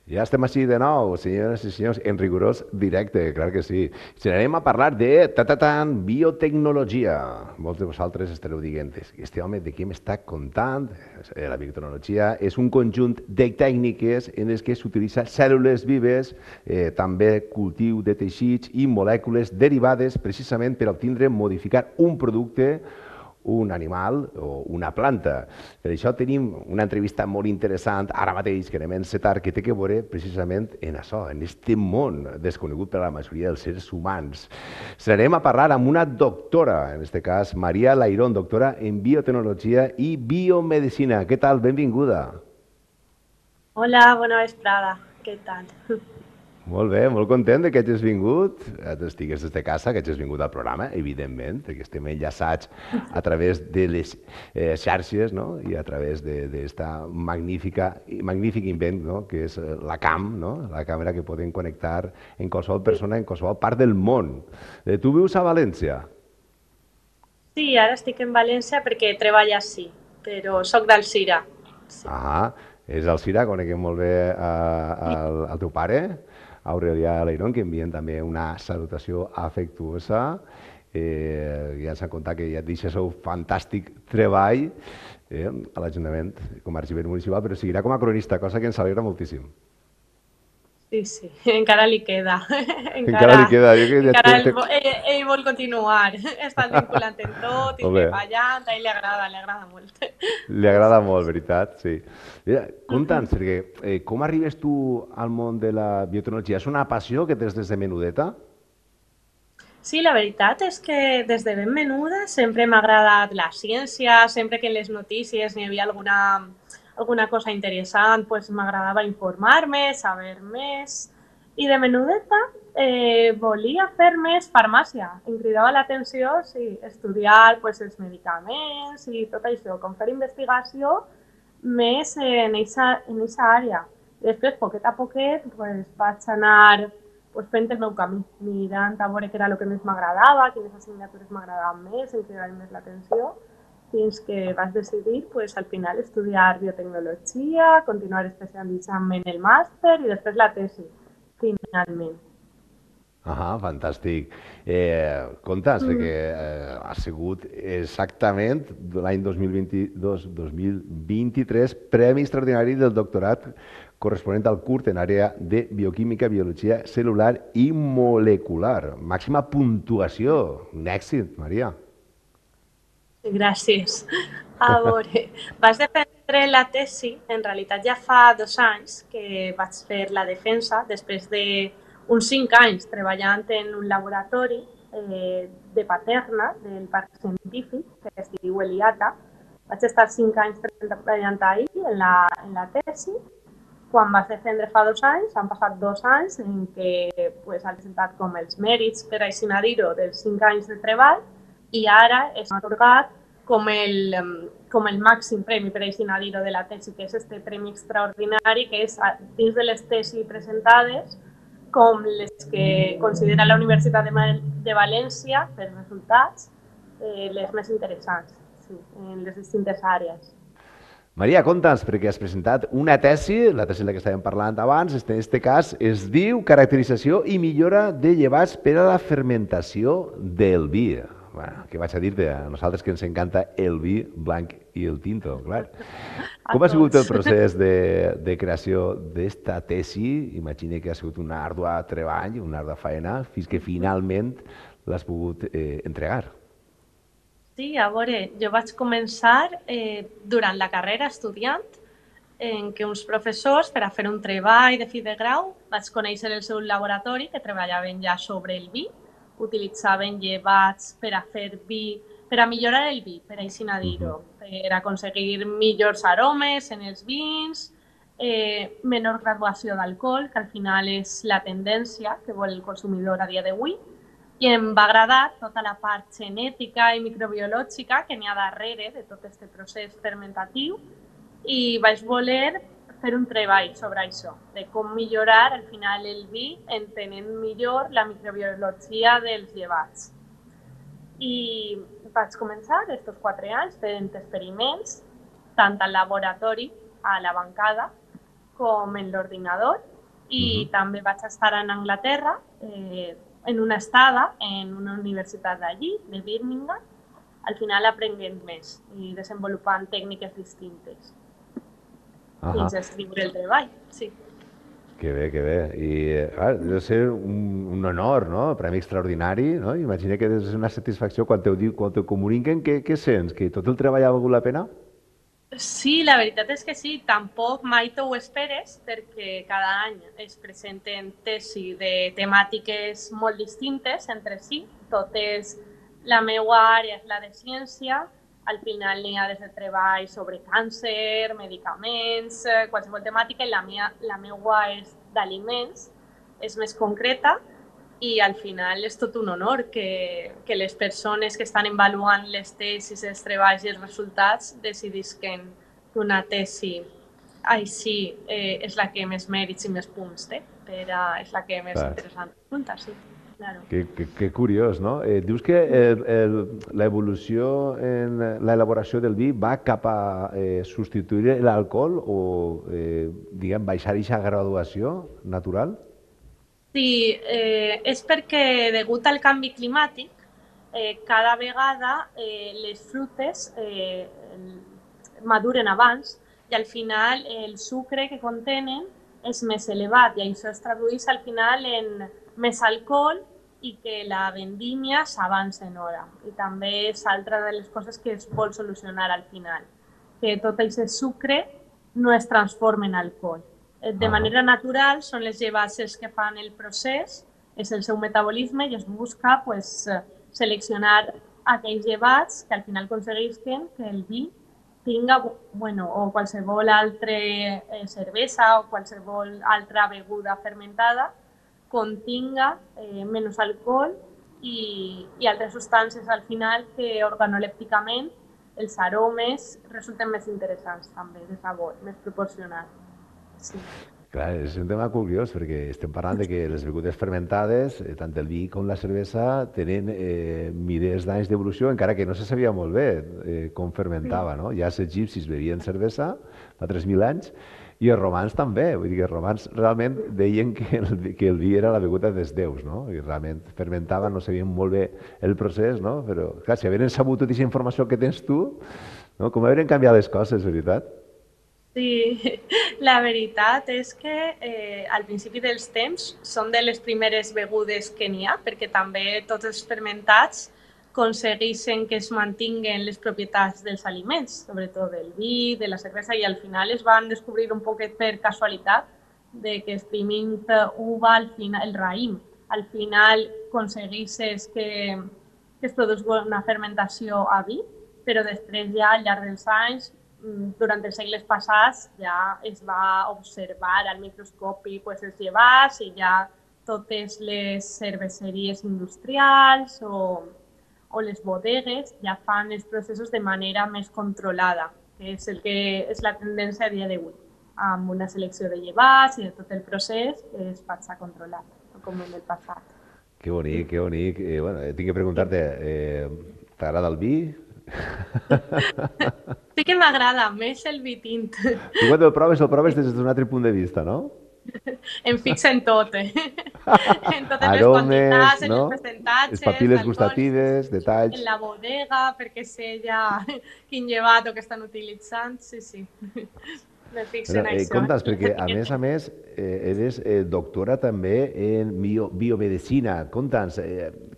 Ja estem així de nou, senyores i senyors, en rigorós directe, clar que sí. Si anem a parlar de biotecnologia. Molts de vosaltres estareu dient, este home de què m'està contant? La biotecnologia és un conjunt de tècniques en les que s'utilitza cèl·lules vives, també cultiu de teixits i molècules derivades precisament per obtindre modificar un producte, un animal o una planta. Per això tenim una entrevista molt interessant ara mateix que anem a encetar que té que veure precisament en això, en este món desconegut per a la majoria dels seres humans. Serem a parlar amb una doctora, en este cas Maria Lairón, doctora en biotecnologia i biomedicina. Què tal? Benvinguda. Hola, bona vesprada. Què tal? Molt bé, molt content de que hagis vingut, estigues des de casa, que hagis vingut al programa, evidentment, perquè estem enllaçats a través de les xarxes, no? I a través d'esta magnífic invent, no? Que és la CAM, no? La càmera que podem connectar en qualsevol persona en qualsevol part del món. Tu vius a València? Sí, ara estic en València perquè treballo ací, però sóc d'Alzira. Sí. Ah, és el Cira, coneguem molt bé al teu pare, Aurelià Leirón, que envien també una salutació afectuosa. Ja s'ha contat que ja et deixa el fantàstic treball a l'Ajuntament com a arxiver municipal, però seguirà com a cronista, cosa que ens alegra moltíssim. Sí, sí, encara li queda. Encara li queda, jo que ja Encara ell vol continuar. Està vinculant en tot i Home, treballant, a ell li agrada molt. li agrada molt, veritat, sí. Mira, conta'ns, perquè com arribes tu al món de la biotecnologia? És una passió que tens des de menudeta? Sí, la veritat és que des de ben menuda sempre m'ha agradat la ciència, sempre que en les notícies n'hi havia alguna cosa interessant, pues m'agradava informar-me, saber més. I de menudeta volia fer més farmàcia. Em cridava l'atenció sí, estudiar pues, els medicaments i tot això, com fer investigació més en aquesta àrea. Després, poquet a poquet, pues, vaig anar pues, fent el meu camí, mirant a veure què era el que més m'agradava, quines assignatures m'agradaven més, em cridaven més l'atenció, fins que vaig decidir pues, al final estudiar biotecnologia, continuar especialitzant-me en el màster i després la tesi, finalment. Ah, fantàstic. Comptes que ha sigut exactament l'any 2022-2023 Premi Extraordinari del Doctorat corresponent al curt en àrea de bioquímica, biologia celular i molecular. Màxima puntuació. Un èxit, Maria. Gràcies. A veure, vaig defendre la tesi, en realitat ja fa 2 anys que vaig fer la defensa, després d'uns 5 anys treballant en un laboratori de Paterna, del Parc Científic, que es diu Eliata. Vaig estar 5 anys treballant ahir en la tesi. Quan vaig defendre fa 2 anys, han passat 2 anys en què pues, han presentat com els mèrits, per així dir-ho, dels 5 anys de treball i ara és atorgat com el màxim premi, per així dir-ho, de la tesi, que és este premi extraordinari, que és dins de les tesis presentades com les que considera la Universitat de València, per resultats, les més interessants sí, en les distintes àrees. Maria, conta'ns, perquè has presentat una tesi, la tesi de la que estàvem parlant abans, en aquest cas es diu Caracterització i millora de llevats per a la fermentació del vi. Bueno, què vaig a dir-te? A nosaltres que ens encanta el vi blanc i el tinto, clar. A Com ha sigut el tots. procés de creació d'esta tesi? Imagina que ha sigut una àrdua treball, una àrdua faena, fins que finalment l'has pogut entregar. Sí, a veure, jo vaig començar durant la carrera estudiant en què uns professors, per a fer un treball de fi de grau, vaig conèixer el seu laboratori, que treballaven ja sobre el vi, utilitzaven llevats per a fer vi, per a millorar el vi, per així dir-ho, per aconseguir millors aromes en els vins, menor graduació d'alcohol, que al final és la tendència que vol el consumidor a dia d'avui, i em va agradar tota la part genètica i microbiològica que n'hi ha darrere de tot aquest procés fermentatiu i vaig voler fer un treball sobre això, de com millorar al final el vi entenent millor la microbiologia dels llevats. I vaig començar aquests 4 anys fent experiments, tant al laboratori, a la bancada, com en l'ordinador, i també vaig estar en Anglaterra en una estada en una universitat d'allí, de Birmingham, al final aprenent més i desenvolupant tècniques distintes fins a escriure el treball, sí. Que bé, que bé. I deu ser un honor, no? Premi extraordinari, no? Imagina que és una satisfacció quan t'ho comuniquen, què sents? Que tot el treball ha valgut la pena? Sí, la veritat és que sí, tampoc mai t'ho esperes perquè cada any es presenten tesis de temàtiques molt distintes entre si, totes la meva àrea és la de ciència, al final n'hi ha des de treball sobre càncer, medicaments, qualsevol temàtica, i la meva és d'aliments, és més concreta, i al final és tot un honor que les persones que estan avaluant les tesis, els treballs i els resultats decidisquen que una tesi així és la que més mèrits i més punts té, és la que més interessant resulta, sí. Claro. Que curiós, no? Dius que l'evolució en l'elaboració del vi va cap a substituir l'alcohol o, diguem, baixar aquesta graduació natural? Sí, és perquè degut al canvi climàtic, cada vegada les frutes maduren abans i al final el sucre que contenen és més elevat i això es tradueix al final en més alcohol i que la vendímia s'avança en hora. I també és altra de les coses que es vol solucionar al final, que tot aquest sucre no es transforma en alcohol. De manera natural són les llevasses que fan el procés, és el seu metabolisme i es busca seleccionar aquells llevats que al final aconseguisquen que el vi tinga, o qualsevol altra cervesa o qualsevol altra beguda fermentada continga menys alcohol i altres substàncies al final que organolèpticament els aromes resulten més interessants també, de sabor, més proporcionats. Sí. Clar, és un tema curiós perquè estem parlant de que les begudes fermentades, tant el vi com la cervesa, tenen milers d'anys d'evolució, encara que no se sabia molt bé com fermentava, no? Ja els egipcis bevien cervesa fa 3.000 anys i els romans també. Vull dir que els romans realment deien que el vi era la beguda dels déus, no? I realment fermentaven, no sabien molt bé el procés, no? Però, clar, si havien sabut tota aquesta informació que tens tu, no? Com haurien canviat les coses, veritat? Sí, la veritat és que al principi dels temps són de les primeres begudes que n'hi ha, perquè també tots els fermentats aconsegueixen que es mantinguen les propietats dels aliments, sobretot del vi, de la cervesa, i al final es van descobrir un poquet per casualitat de que exprimint uva, el raïm, al final aconsegueixes que es produís una fermentació a vi, però després ja al llarg dels anys durant els segles passats ja es va observar al microscopi els llevats i ja totes les cerveseries industrials o les bodegues ja fan els processos de manera més controlada, que és el que és la tendència a dia d'avui, amb una selecció de llevats i de tot el procés que es passa controlat, com en el passat. Que bonic, que bonic. Bueno, tinc que preguntar-te, t'agrada el vi? Sí que m'agrada més el vi tint. Tu quan el proves des d'un altre punt de vista, no? Em fixa en tot, en totes les quantitats, en els percentatges, les papil·les gustatives, detalls. En la bodega, perquè sé ja quin llevat o que estan utilitzant, sí. Me fixo en això. Comptes, perquè a més, eres doctora també en biomedicina. Compta'ns,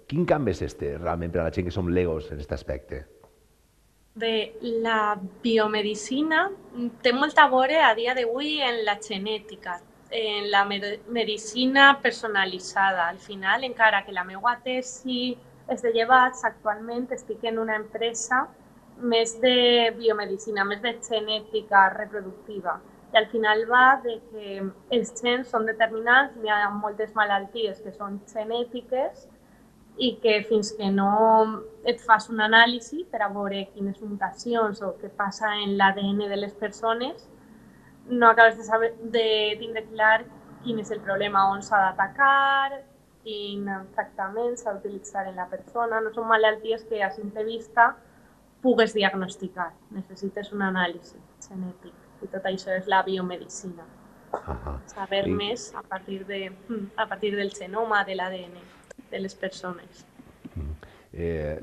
quin canvi és este realment per a la gent que som legos en aquest aspecte? Bé, la biomedicina té molta a veure a dia d'avui en la genètica, en la medicina personalitzada. Al final, encara que la meva tesi és de llevats, actualment estic en una empresa més de biomedicina, més de genètica reproductiva. I al final va de que els gens són determinants, hi ha moltes malalties que són genètiques i que fins que no et fas un anàlisi per a veure quines mutacions o què passa en l'ADN de les persones, no acabes de tindre clar quin és el problema, on s'ha d'atacar, quin tractament s'ha d'utilitzar en la persona. No són malalties que a simple vista pugues diagnosticar. Necessites un anàlisi genètic i tot això és la biomedicina. Ahà. saber I, més a partir del genoma, de l'ADN de les persones.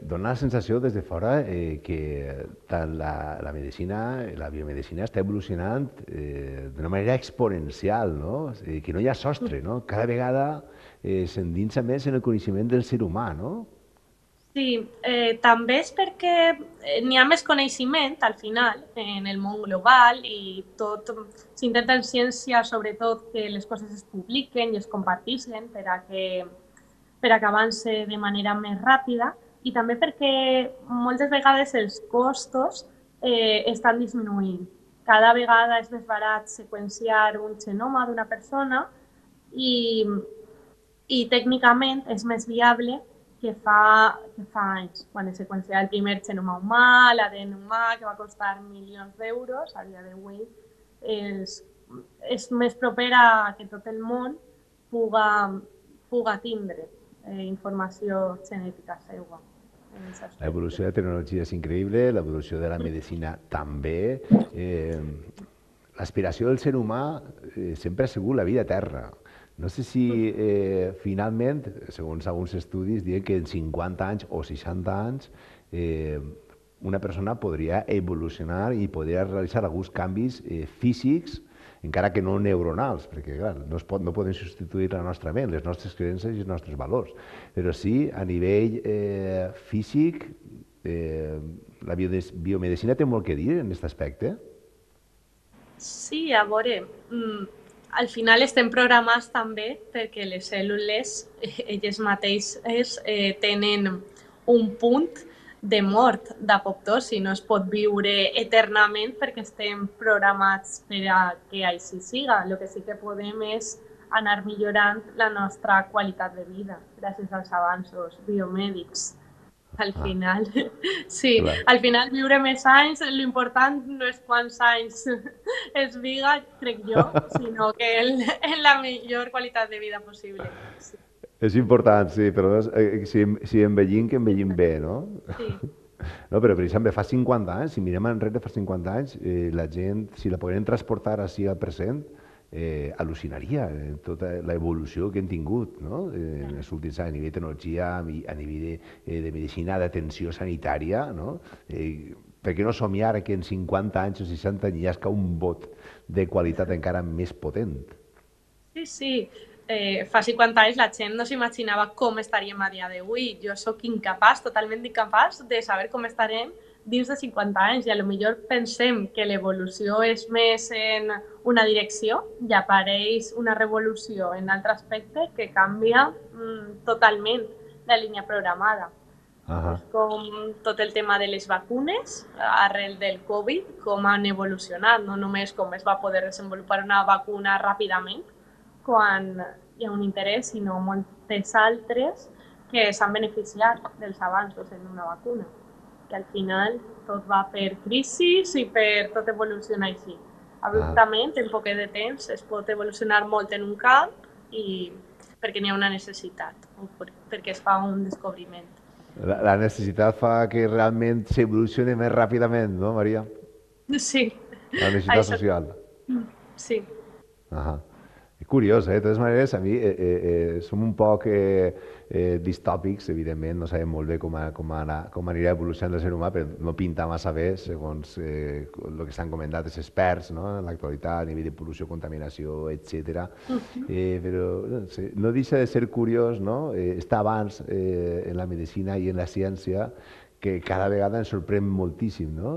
dona la sensació des de fora que tant la medicina, la biomedicina està evolucionant d'una manera exponencial, no? Que no hi ha sostre, no? Cada vegada s'endinsa més en el coneixement del ser humà, no? Sí, també és perquè n'hi ha més coneixement al final en el món global i tot s'intenta en ciència sobretot que les coses es publiquen i es comparteixen per a que avance de manera més ràpida i també perquè moltes vegades els costos estan disminuint. Cada vegada és més barat seqüenciar un genoma d'una persona i, i tècnicament és més viable que fa anys, quan es seqüenciava el primer genoma humà, l'ADN humà, que va costar milions d'euros, a dia d'avui és, és més proper a que tot el món puga, puga tindre informació genètica seva en aquest aspecte. L'evolució de la tecnologia és increïble, l'evolució de la medicina també. Eh, L'aspiració del ser humà sempre ha sigut la vida eterna. No sé si finalment, segons alguns estudis, diuen que en 50 anys o 60 anys una persona podria evolucionar i podria realitzar alguns canvis físics, encara que no neuronals, perquè clar, no podem substituir la nostra ment, les nostres creences i els nostres valors, però sí a nivell físic, la biomedicina té molt que dir en aquest aspecte. Sí, a veure, al final estem programats també perquè les cèl·lules, elles mateixes, tenen un punt de mort d'apoptosi, no es pot viure eternament perquè estem programats per a que així siga. El que sí que podem és anar millorant la nostra qualitat de vida gràcies als avanços biomèdics. Al Ah, final, sí, clar. al final viure més anys, l'important no és quants anys es viga, crec jo, sinó que en la millor qualitat de vida possible. Sí, És important, sí, però si envellim, que envellim bé, no? sí, No, però per exemple, fa 50 anys, si mirem enrere fa 50 anys, la gent, si la pogueren transportar així al present, al·lucinaria tota l'evolució que hem tingut, no? En els últims anys, a nivell de tecnologia, a nivell de medicina, d'atenció sanitària, no? Per què no somiar que en 50 anys o 60 anys hi hagi un bot de qualitat encara més potent? sí, sí. Fa 50 anys la gent no s'imaginava com estaríem a dia d'avui. Jo sóc incapaç, totalment incapaç, de saber com estarem dins de 50 anys i a lo millor pensem que l'evolució és més en una direcció i apareix una revolució en altre aspecte que canvia totalment la línia programada. Ahà. És com tot el tema de les vacunes arrel del Covid, com han evolucionat, no només com es va poder desenvolupar una vacuna ràpidament quan hi ha un interès, sinó moltes altres que s'han beneficiat dels avanços en una vacuna. Que al final tot va per crisis i per tot evolucionar així. Ah. Abruptament, en poc de temps, es pot evolucionar molt en un camp i perquè n'hi ha una necessitat o perquè es fa un descobriment. La necessitat fa que realment s'evolucioni més ràpidament, no, Maria? Sí, La necessitat això social. sí. Ahà. Curiós, eh? De totes maneres, a mi som un poc distòpics, evidentment, no sabem molt bé com anirà evolucionant el ser humà, però no pinta massa bé, segons el que s'han comentat els experts, no? En l'actualitat, a nivell de pol·lució, contaminació, etc. Però no sé, no deixa de ser curiós, no? Està abans en la medicina i en la ciència, que cada vegada ens sorprèn moltíssim, no?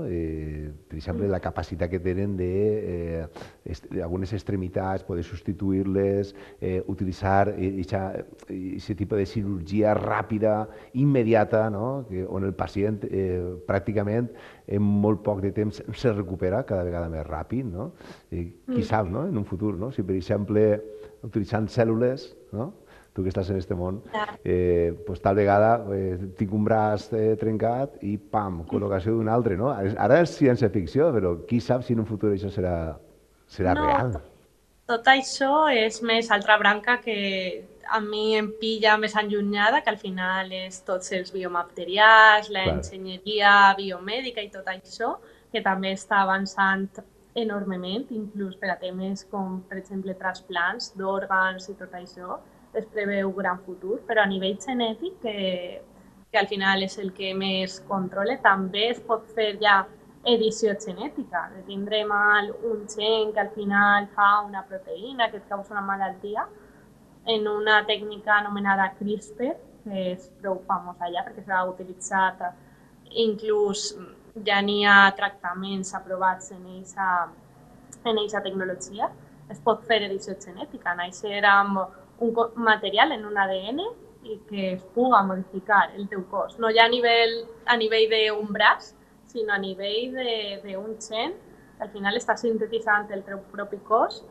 Per exemple, la capacitat que tenen de algunes extremitats, poder substituir-les, utilitzar aquest tipus de cirurgia ràpida, immediata, no? On el pacient pràcticament en molt poc de temps se recupera cada vegada més ràpid, no? Qui sap, no? En un futur, no? Si per exemple utilitzant cèl·lules, no? Tu que estàs en aquest món, pues, tal vegada tinc un braç trencat i pam, col·locació d'un altre, no? Ara és ciència-ficció, però qui sap si en un futur això serà No, real. tot això és més altra branca que a mi em pilla més allunyada, que al final és tots els biomaterials, Clar. l'enginyeria biomèdica i tot això, que també està avançant enormement, inclús per a temes com, per exemple, trasplants d'òrgans i tot això, es preveu gran futur, però a nivell genètic, que al final és el que més controla, també es pot fer ja edició genètica, de tindre mal un gen que al final fa una proteïna que et causa una malaltia, en una tècnica anomenada CRISPR, que és prou famosa ja perquè s'ha utilitzat, inclús ja n'hi ha tractaments aprovats en aquesta tecnologia. Es pot fer edició genètica, néixer amb un material en un ADN i que es puga modificar el teu cos, no ja a nivell d'un braç, sinó a nivell d'un gen, que al final està sintetitzant el teu propi cos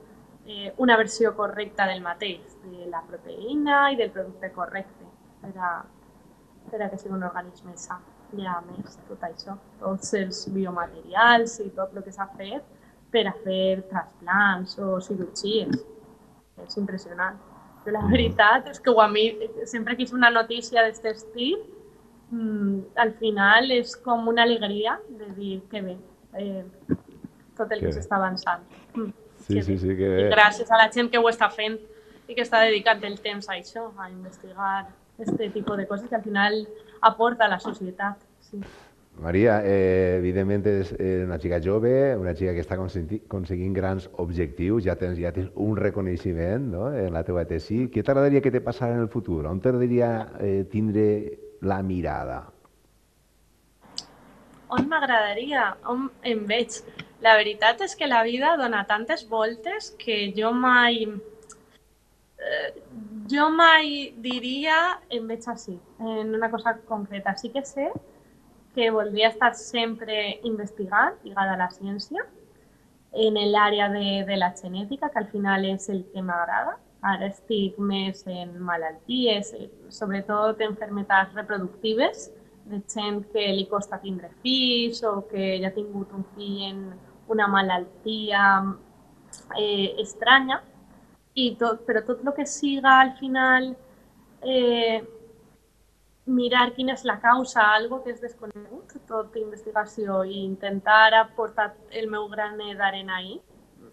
una versió correcta del mateix, de la proteïna i del producte correcte, per a que sigui un organisme sa. Hi ha més tot això, tots els biomaterials i tot el que s'ha fet per a fer trasplants o cirurgies. És impressionant. Però la veritat és que a mi, sempre que és una notícia d'aquest estil, al final és com una alegria de dir que bé, tot el que s'està avançant. Sí, que bé. I gràcies a la gent que ho està fent i que està dedicant el temps a això, a investigar aquest tipus de coses que al final aporta a la societat. Sí. Maria, evidentment és una xica jove, una xica que està aconseguint grans objectius, ja tens un reconeixement, no?, en la teva tesi. Què t'agradaria que te passara en el futur? On t'agradaria tindre la mirada? On m'agradaria? On em veig? La veritat és que la vida dona tantes voltes que jo mai diria em veig així, en una cosa concreta. Sí que sé que voldria estar sempre investigant, lligada a la ciència, en l'àrea de la genètica, que al final és el que m'agrada. Ara estic més en malalties, sobretot enfermetats reproductives, de gent que li costa tindre fills o que ja ha tingut un fill en una malaltia estranya, però tot el que siga al final mirar quina és la causa, algo que és desconegut, tot investigació, i intentar aportar el meu granet d'arena ahí,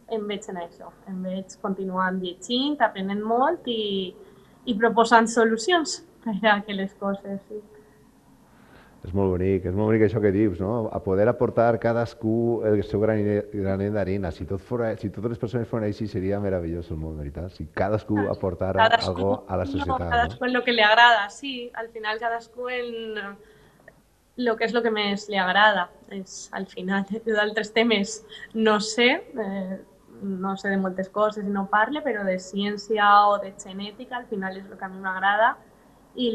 em veig en això. Em veig continuant llegint, aprenent molt i proposant solucions per a que les coses... Sí. És molt bonic això que dius, no? A poder aportar cadascú el seu granet d'arena. Si totes les persones foren així, seria meravellós el món, veritat? Si cadascú aportara algo a la societat. Cadascú en el que li agrada, sí. Al final cadascú en el que és el que més li agrada. Al final, d'altres temes no sé de moltes coses i no parle, però de ciència o de genètica al final és el que a mi m'agrada i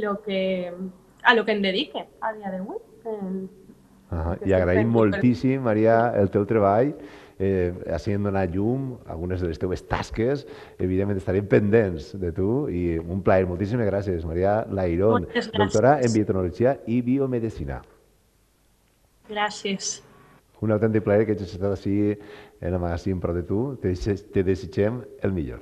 a lo que em dedique a dia d'avui. I agraïm moltíssim, Maria, el teu treball, així en donar llum a algunes de les teves tasques. Evidentment estarem pendents de tu i un plaer. Moltíssimes gràcies, Maria Lairón, doctora en biotecnologia i biomedicina. Gràcies. Un autèntic plaer que hagis estat així en el magazín Pro de Tu. Te desitgem el millor.